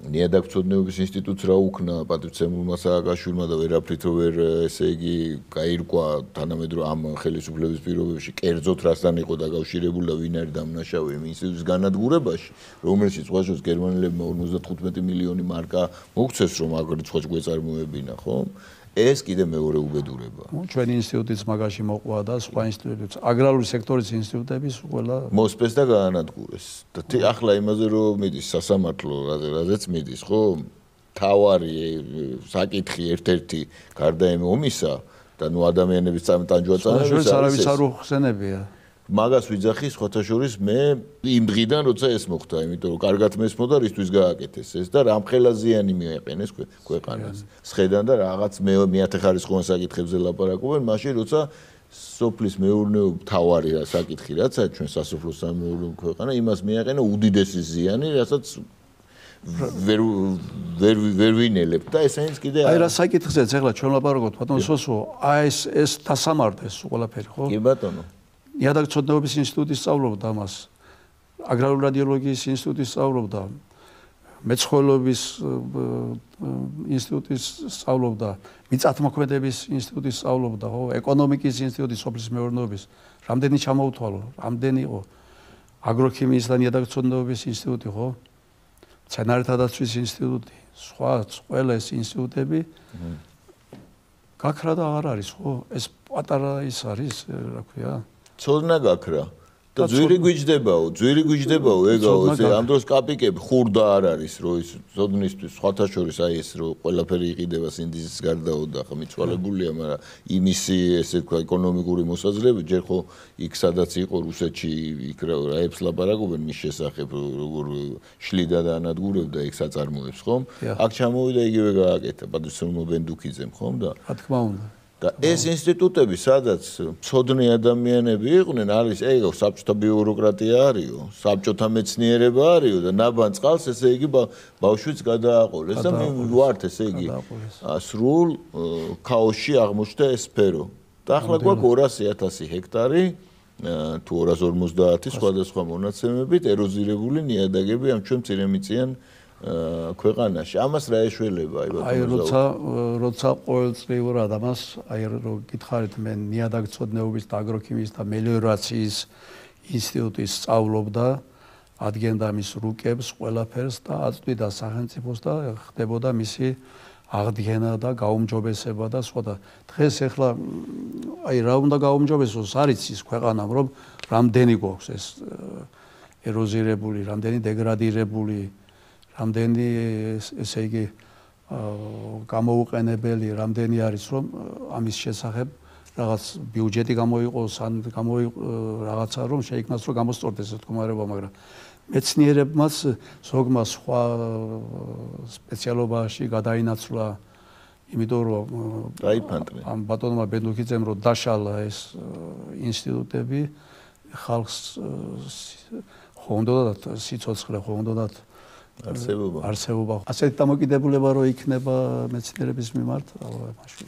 ნიადაგწოდნეობის ინსტიტუტს რა უქნა პატრიცემულმა სააკაშვილმა და ვერაფრით ვერ ესე იგი გაირკვა თანამედროვე ამ ხელისუფლების პირობებში კერძოდ რასთან იყო დაკავშირებული და ვინ არის დამნაშავე იმ ინსტიტუტის განადგურებაში, რომელშიც სხვაშორის გერმანელებმა 55 მილიონი მარკა მოგვცეს, რომ აგ რიცხვად გვეწარმოებინა, ხო? ეს კიდე მეორე უბედურება. ჩვენი ინსტიტუტიც მაგაში მოყვა და სხვა ინსტიტუტიც, აგრარული სექტორის ინსტიტუტების ყველა მოსპეს და გაანადგურეს. და ახლა იმაზე რომ მიდის სასამართლო, რაზეც მიდის, ხო? თავარი საკითხი ერთ-ერთი გარდა იმ ომისა და ნუ ადამიანების ტანჯვა-წამების არავის არ უხსენებია. მაგას ვიძახი სხვათა შორის მე იმ დღიდან როცა ეს მოხდა, იმიტომ რომ კარგად მესმოდა რისთვის გააკეთეს ეს და რამხელაზიანი მიაყენეს ქვეყანას. სხედან და რაღაც მეათეხარისხოვან საკითხებზე ლაპარაკობენ, მაშინ როცა სოფლის მეურნეობა თავარი საკითხი რაცა ჩვენ სასოფლო სამეურნეო ქვეყანა, იმას მიაყენა უდიდესი ზიანი, რასაც ვერ ვინელებთ და ესენიც კიდე აი რა საკითხზეც ახლა ჩვენ ლაპარაკობთ ბატონო სოსო, აი ეს დასამარდეს ყველაფერი, ხო? კი ბატონო. ნიადაგწოდნეობის ინსტიტუტი სწავლობდა ამას, აგრარული რადიოლოგიის ინსტიტუტი სწავლობდა, მეცხოველეობის ინსტიტუტი სწავლობდა, მიწათმოქმედების ინსტიტუტი სწავლობდა, ხო, ეკონომიკის ინსტიტუტი, სოფლის მეურნეობის, რამდენი ჩამოუთვალო, რამდენი იყო, აგროქიმიის და ნიადაგწოდნეობის ინსტიტუტი, ხო, მცენარეთა დაცვის ინსტიტუტი, სხვა ყველა ეს ინსტიტუტები გაქრა და აღარ არის, ხო, ეს პატარა ის არის, რა ქვია. ცოდნა გაქრა და ძვირი გვიჯდებაო ეგაო ამ დროს კაპიკები ხურდა არ არის რომ ის ცოდნისთვის სხვათა შორის აი ეს რომ ყველაფერი იყიდება სინდისის გარდაო და ხა მიცვალებულია მაგრამ იმისი ესე თქვა ეკონომიკური მოსაზრება ჯერ ხო იქ სადაც იყო რუსეთში იქ რაებს ლაპარაკობენ მის შესახებ როგორ შლიდა და ანადგურებდა იქ საწარმოებს ხომ აქ ჩამოვიდა იგივე გააკეთა პატრიცემულმა ბენდუქიძემ ხომ და რა თქმა უნდა და ეს ინსტიტუტები, სადაც მცოდნე ადამიანები იყვნენ, არის ეგ საბჭოთა ბიუროკრატია არისო, საბჭოთა მეცნიერება არისო და ნაბან წყალს ესე იგი ბავშვიც გადააყოლეს და მე ვართ ესე იგი სრულ ქაოსში აღმოჩნდა ეს სფერო. და ახლა გვაქვს 200,000 ჰექტარი თუ 250 სხვადასხვა მონაცემებით ეროზირებული ნიადაგები ამ ჩვენ მცირემიწიან ქვეყანაში. ამას რა ეშველება აი როცა ყოველწლიურად ამას აი რო გითხარით მე ნიადაგწოდნეობის და აგროქიმიის და მელიორაციის ინსტიტუტის სწავლობდა ადგენდა მის რუკებს ყველაფერს და აწვდიდა სახელმწიფოს და ხდებოდა მისი აღდგენა და გაუმჯობესება და სხვა და დღეს ახლა აი რა უნდა გაუმჯობესოს არის ის ქვეყანამ რომ რამდენი გვაქვს ეს ეროზირებული, რამდენი დეგრადირებული რამდენი ესე იგი გამოუყენებელი რამდენი არის რომ ამის შესახებ რაღაც ბიუჯეტი გამოიყოს ან რაღაცა რომ შეიქმნას რომ გამოსწორდეს ეს მდგომარეობა მაგრამ მეცნიერებმაც ზოგმა სხვა სპეციალობაში გადაინაცვლა იმიტომ რომ დაიფანტნენ ამ ბატონმა ბენდუქიძემ რომ დაშალა ეს ინსტიტუტები ხალხს ხო უნდა სიცოცხლე ხო უნდა არსებობა. ასეთი დამოკიდებულება რო იქნება მეცნიერების მიმართ, მაშინ